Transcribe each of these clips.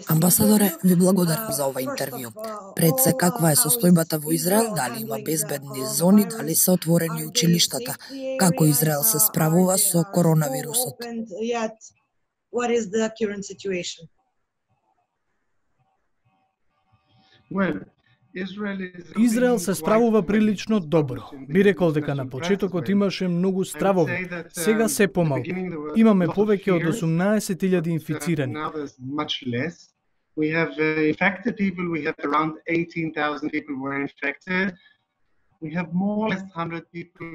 Амбасадоре, ви благодарам за ова интервју. Пред се, каква е состојбата во Израел? Дали има безбедни зони? Дали се отворени училиштата? Како Израел се справува со коронавирусот? Израел се справува прилично добро. Би рекол дека на почетокот имаше многу стравови, сега се помалку. Имаме повеќе од 18.000 инфицирани.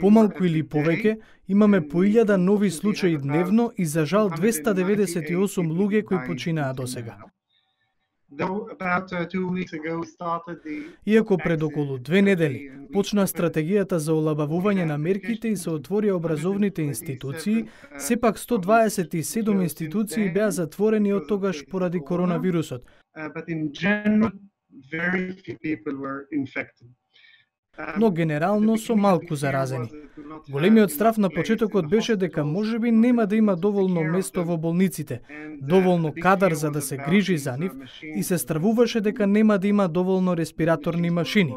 Помалку или повеќе, имаме по 1000 нови случаи дневно и за жал 298 луѓе кои починаа досега. Иако пред околу 2 недели почна стратегијата за олабавување на мерките и се отворија образовните институции, сепак 127 институции беа затворени од тогаш поради коронавирусот. Но генерално со малку заразени. Големиот страв на почетокот беше дека можеби нема да има доволно место во болниците, доволно кадар за да се грижи за нив и се стравуваше дека нема да има доволно респираторни машини.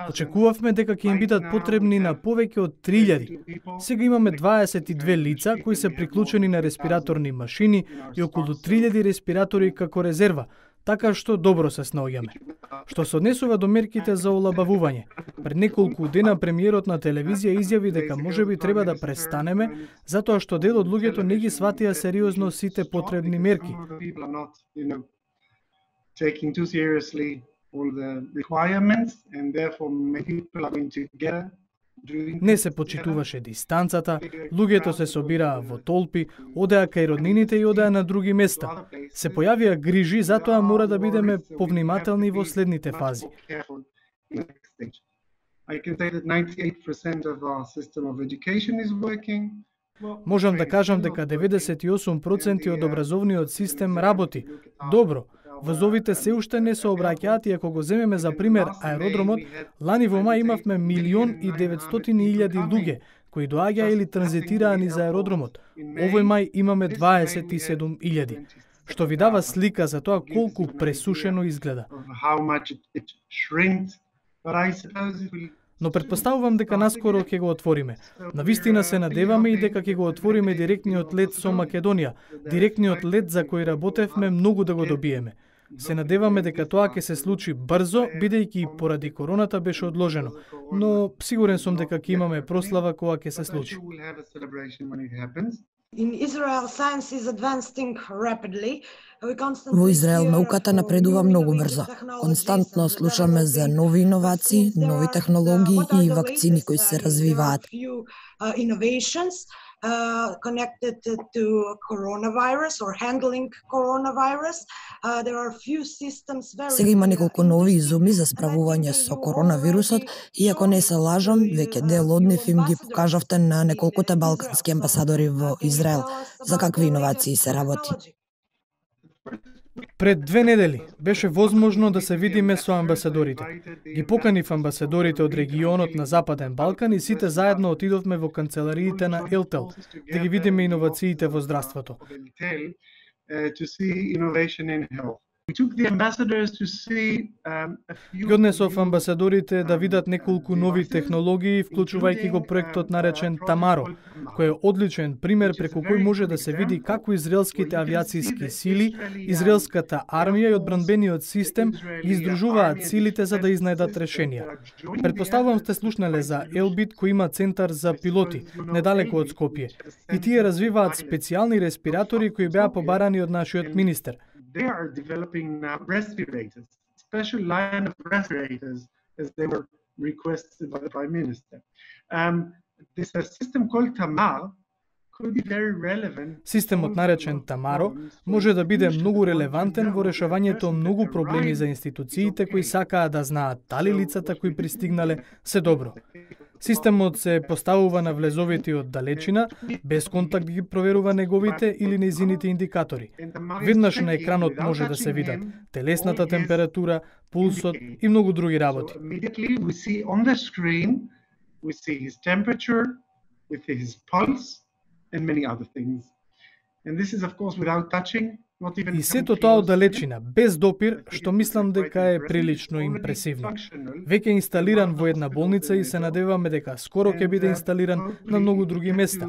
Очекувавме дека ќе им бидат потребни на повеќе од 3000. Сега имаме 22 лица кои се приклучени на респираторни машини и околу 3000 респиратори како резерва, така што добро се снаоѓаме. Што се однесува до мерките за олабавување, пред неколку дена премиерот на телевизија изјави дека можеби треба да престанеме, затоа што дел од луѓето не ги сватија сериозно сите потребни мерки. Не се почитуваше дистанцата, луѓето се собираа во толпи, одеа кај роднините и одеа на други места. Се појавија грижи, затоа мора да бидеме повнимателни во следните фази. Можам да кажам дека 98% од образовниот систем работи добро. Возовите се уште не се обраќаат и ако го земеме за пример аеродромот, лани во мај имавме 1.900.000 луѓе кои доаѓаа или транзитираа низ аеродромот. Овој мај имаме 27.000, што ви дава слика за тоа колку пресушено изгледа. Но предпоставувам дека наскоро ќе го отвориме. Навистина се надеваме и дека ќе го отвориме директниот лет со Македонија, директниот лет за кој работевме многу да го добиеме. Се надеваме дека тоа ќе се случи брзо, бидејќи и поради короната беше одложено, но сигурен сум дека ќе имаме прослава кога ќе се случи. Во Израел науката напредува многу брзо. Константно слушаме за нови иновации, нови технологии и вакцини кои се развиваат. Connected to coronavirus or handling coronavirus. There are few systems very. Сега има неколку нови изуми за справување со коронавирусот, иако не се лажам, веќе дел од нив им ги покажавте на неколкуте балкански амбасадори во Израел. За какви иновации се работи? Пред 2 недели беше возможно да се видиме со амбасадорите. Ги поканив амбасадорите од регионот на Западен Балкан и сите заедно отидовме во канцелариите на Елтел да ги видиме иновациите во здравството. Ги однесов амбасадорите да видат неколку нови технологии, вклучувајќи го проектот наречен Тамаро, кој е одличен пример преку кој може да се види како израелските авиацијски сили, израелската армија и одбранбениот систем ги издружуваат силите за да изнајдат решенија. Предпоставувам сте слушнале за Елбит кој има центар за пилоти недалеку од Скопје и тие развиваат специјални респиратори кои беа побарани од нашиот министер. They are developing respirators, special line of respirators, as they were requested by the Prime Minister. This system called Tamar could be very relevant. Системот наречен Тамаро може да биде многу релевантен во решавањето многу проблеми за институциите кои сакаат да знаат дали лицата кои пристигнале се добро. Системот се поставува на влезовите од далечина, без контакт ги проверува неговите или нејзините индикатори. Веднаш на екранот може да се видат телесната температура, пулсот и многу други работи. We see his temperature, with his pulse and many other things. And this is of course without touching. И сето тоа од далечина, без допир, што мислам дека е прилично импресивно. Веќе инсталиран во една болница и се надеваме дека скоро ќе биде инсталиран на многу други места.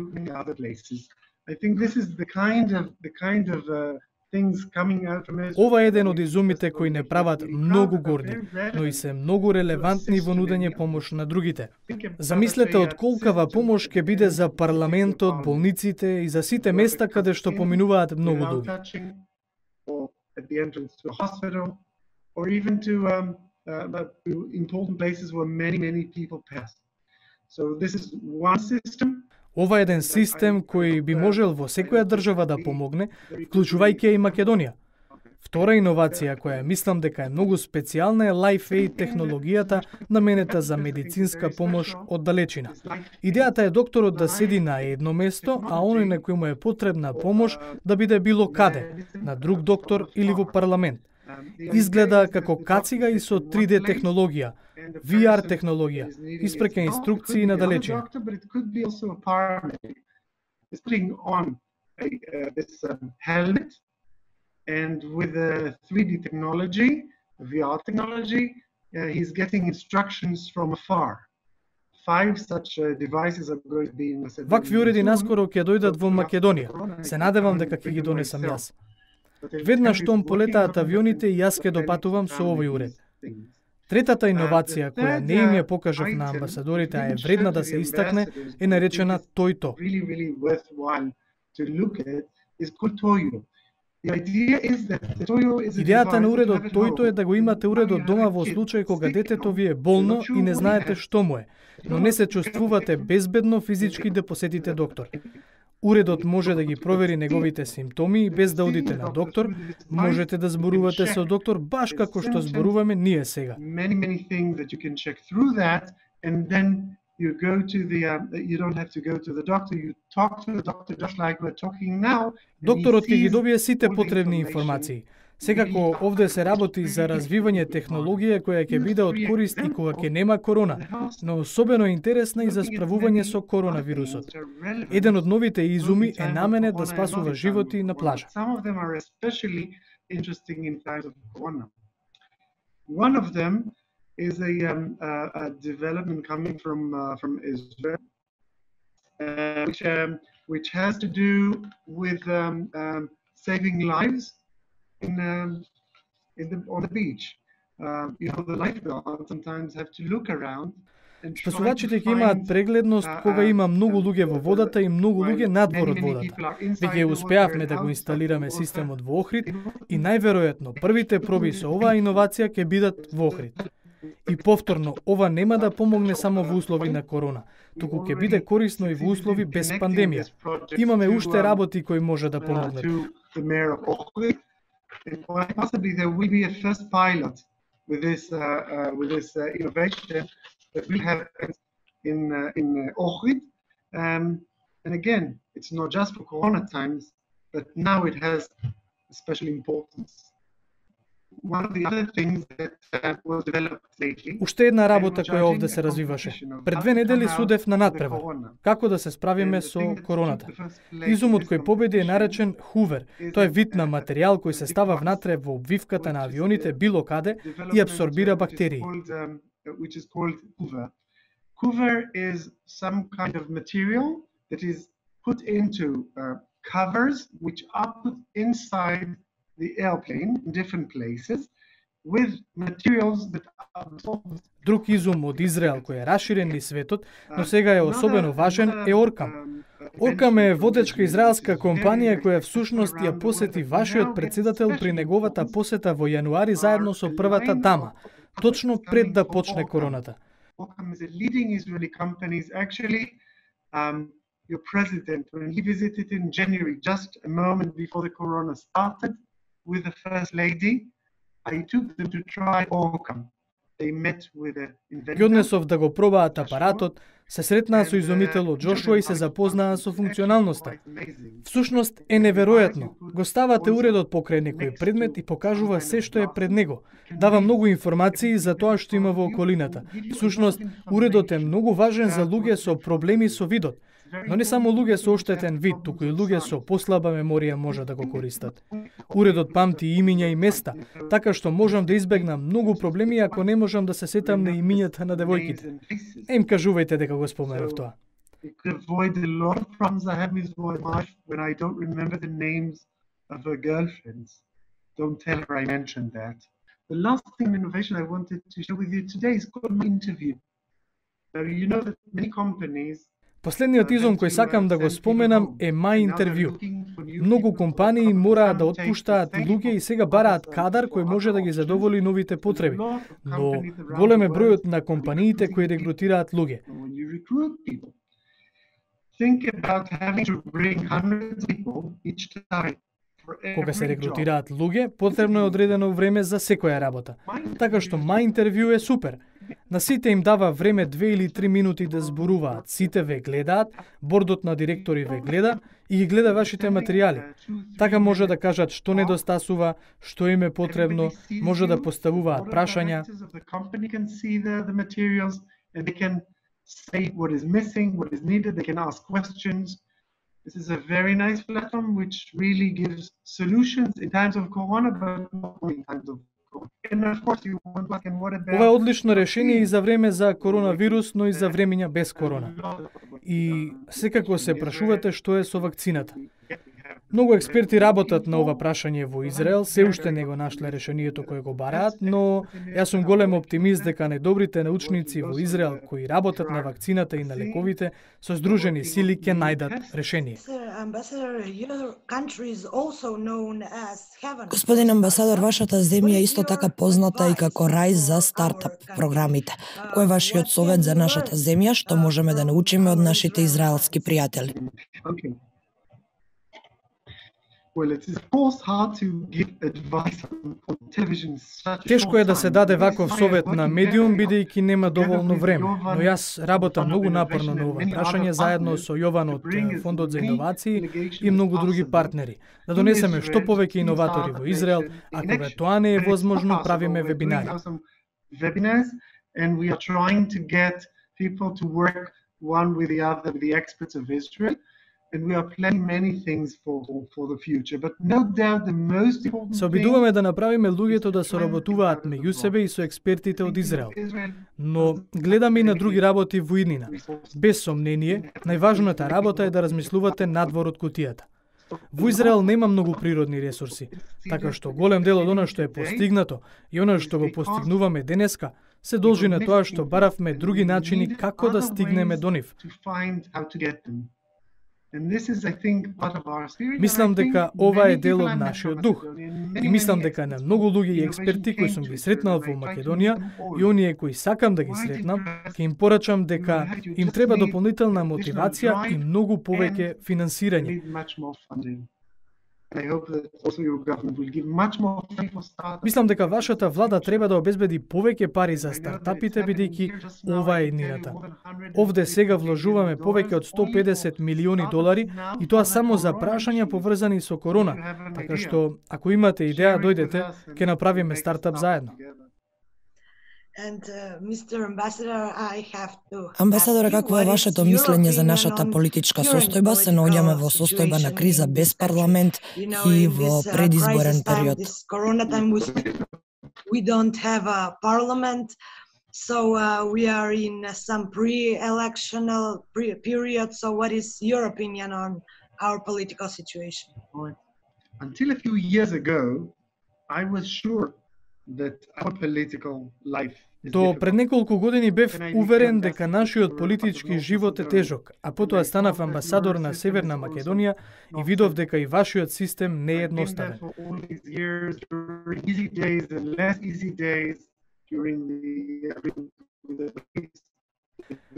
Ова е еден од изумите кои не прават многу горди, но и се многу релевантни во нудење помош на другите. Замислете од колкава помош ќе биде за парламентот, болниците и за сите места каде што поминуваат многу луѓе. At the entrance to a hospital, or even to important places where many people pass. So this is one system. Ова е еден систем кој би можел во секоја држава да помогне, вклучувајќи и Македонија. Втора иновација која мислам дека е многу специјална е LifeAid технологијата наменета за медицинска помош од далечина. Идејата е докторот да седи на едно место, а оној на кој му е потребна помош да биде било каде, на друг доктор или во парламент. Изгледа како кацига и со 3D технологија, VR технологија, испреќа инструкции на далечина. And with the 3D technology, VR technology, he's getting instructions from afar. 5 such devices are going to be in the Вакви уреди наскоро ќе дојдат во Македонија. Се надевам дека ќе ги донесам јас. Веднаш штом полетаат авионите и јас ќе допатувам со овој уред. Третата иновација која не им ја покажав на амбасадорите, а е вредна да се истакне, е наречена Тојто. Идејата на уредот Тојто е да го имате уредот дома во случај кога детето ви е болно и не знаете што му е, но не се чувствувате безбедно физички да посетите доктор. Уредот може да ги провери неговите симптоми и без да одите на доктор, можете да зборувате со доктор баш како што зборуваме ние сега. You go to the you don't have to go to the doctor, you talk to the doctor just like we're talking now. Докторот ќе ги добие сите потребни информации. Секако овде се работи за развивање технологија која ќе биде од корист и кога ќе нема корона, но особено интересна и за справување со коронавирусот. Еден од новите изуми е наменет да спасува животи на плажа. One of them is a development coming from Israel, which has to do with saving lives on the beach. The lifeguards sometimes have to look around. Спасувачите ќе имаат прегледност кога има многу луѓе во водата и многу луѓе надвор од водата. Веќе успеавме да го инсталираме системот во Охрид и најверојатно првите проби со оваа иновација ќе бидат во Охрид. И повторно, ова нема да помогне само во услови на корона, туку ќе биде корисно и во услови без пандемија. Имаме уште работи кои може да помогнат. Possibly there will be a first pilot with this innovation that we have in Ohrid, and again, it's not just for Corona times, but now it has a special importance. One of the other things that was developed lately. Уште една работа која овде се развиваше. Пред 2 недели судев на надпревар. Како да се справиме со короната. Изумот кој победи е наречен хувер. Тоа е вид на материјал кој се става внатре во обвивката на авионите било каде и абсорбира бактерии. Which is called Hoover. Hoover is some kind of material that is put into covers which are put inside the airplane in different places with materials that absorb. Друг изум од Израел кој е раширен низ светот, но сега е особено важен е Оркам. Оркам е водечка израелска компанија која всушност ја посети вашиот председател при неговата посета во јануари заедно со првата дама, точно пред да почне короната. Orcam is a leading Israeli company. Actually, your president, when he visited in January, just a moment before the corona started, with the first lady, I took them to try Orcam. They met with the inventor. Ги однесов да го пробаат апаратот, се сретнаа со изумителот Джошуа и се запознаа со функционалноста. Всушност е неверојатно. Го ставате уредот покрај некој предмет и покажува се што е пред него. Дава многу информации за тоа што има во околината. Всушност, уредот е многу важен за луѓе со проблеми со видот. Но не само луѓе со оштетен вид, туку и луѓе со послаба меморија може да го користат. Уредот памти имиња и места, така што можам да избегнам многу проблеми ако не можам да се сетам на имињата на девојките. Им кажувајте дека го споменав тоа. It could avoid a lot of problems I have with my wife when I don't remember the names of her girlfriends. Don't tell her I mentioned that. The last thing innovation I wanted to share with you today is called my interview. Now, you know that many companies Последниот изум кој сакам да го споменам е My Interview. Многу компании мораат да отпуштаат луѓе и сега бараат кадар кој може да ги задоволи новите потреби. Но голем е бројот на компаниите кои регрутираат луѓе. Think about having to bring hundreds of people each time. Кога се регрутираат луѓе, потребно е одредено време за секоја работа. Така што My Interview е супер. На сите им дава време 2 или 3 минути да зборуваат. Сите ве гледаат, бордот на директори ве гледа и ги гледа вашите материјали. Така може да кажат што недостасува, што им е потребно, може да поставуваат прашања. Say what is missing, what is needed, they can ask questions. This is a very nice platform which really gives solutions in times of corona, but not only in times of corona. And of course you want to ask what about... Ова е одлично решение и за време за коронавирус, но и за времења без корона. И секако се прашувате што е со вакцината. Многу експерти работат на ова прашање во Израел, се уште не го нашле решението кое го бараат, но јас сум голем оптимист дека најдобрите научници во Израел кои работат на вакцината и на лековите со здружени сили ќе најдат решение. Господин амбасадор, вашата земја е исто така позната и како рај за стартап програмите. Кој е вашиот совет за нашата земја, што можеме да научиме од нашите израелски пријатели? Тешко е да се даде ваков совет на медиум, бидејќи нема доволно време, но јас работам многу напорно на ова прашање заедно со Јован од Фондот за иновации и многу други партнери, да донесеме што повеќе иноватори во Израел, а кога тоа не е возможно, правиме вебинари. And we are trying to get people to work one with the other, with the experts of Israel. And we are planning many things for the future, but no doubt the most important Се обидуваме да направиме луѓето да соработуваат меѓу себе и со експертите од Израел. Но гледаме и на други работи во иднина. Без сомнение, најважната работа е да размислувате надвор од кутијата. Во Израел нема многу природни ресурси, така што голем дел од она што е постигнато и она што го постигнуваме денеска се должи на тоа што баравме други начини како да стигнеме до нив. Мислам дека ова е дел од нашиот дух. И мислам дека на многу луѓе и експерти кои сум ги сретнал во Македонија и оние кои сакам да ги сретнам, ќе им порачам дека им треба дополнителна мотивација и многу повеќе финансирање. Мислам дека вашата влада треба да обезбеди повеќе пари за стартапите, бидејќи ова е иднината. Овде сега вложуваме повеќе од 150 милиони долари и тоа само за прашања поврзани со корона. Така што, ако имате идеја, дојдете, ќе направиме стартап заедно. Амбасадоре, какво е вашето мислење за нашата политичка состојба? Се наоѓаме во состојба на криза без парламент и во предизборен период. So we are in some pre-electional period. So what is your opinion on our political situation? Until a few years ago, I was sure that our political life До пред неколку години бев уверен дека нашиот политички живот е тежок, а потоа станав амбасадор на Северна Македонија и видов дека и вашиот систем не е едноставен.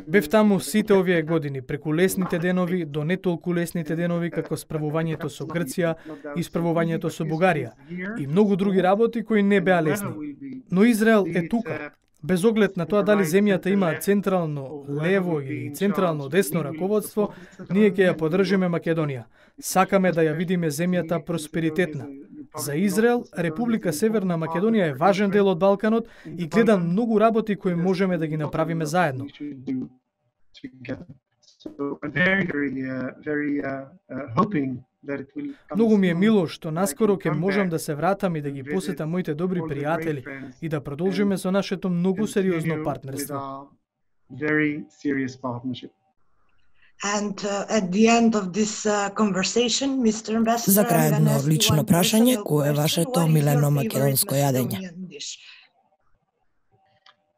Бев таму сите овие години, преку лесните денови до не толку лесните денови како справувањето со Грција и справувањето со Бугарија и многу други работи кои не беа лесни. Но Израел е тука. Без оглед на тоа дали земјата има централно лево или централно десно раководство, ние ќе ја поддржиме Македонија. Сакаме да ја видиме земјата просперитетна. За Израел, Република Северна Македонија е важен дел од Балканот и гледам многу работи кои можеме да ги направиме заедно. So I'm very hoping that it will come. Многу ми е мило што наскоро ќе можам да се вратам и да ги посетам моите добри пријатели и да продолжиме со нашето многу сериозно партнерство. Very serious partnership. And at the end of this conversation, Mr. Ambassador, За крај едно лично прашање, кое е вашето омилено македонско јадење?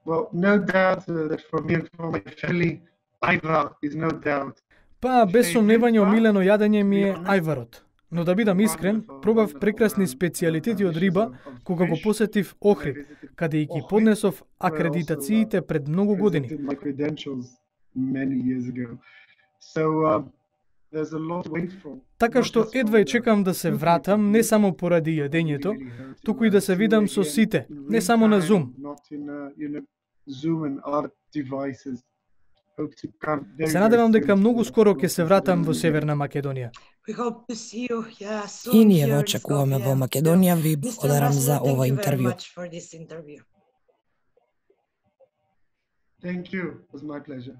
Well, no doubt that for me and for my family, ajvar is no doubt. Па, без сомневање, омилено јадење ми е ајварот. Но да бидам искрен, пробав прекрасни специјалитети од риба кога го посетив Охрид, каде и ги поднесов акредитациите пред многу години. Така што едва и чекам да се вратам не само поради јадењето, туку и да се видам со сите, не само на Zoom. Се надевам дека многу скоро ќе се вратам во Северна Македонија. И ние ве очекуваме во Македонија. Ви благодарам за ова интервју. Thank you. It was my pleasure.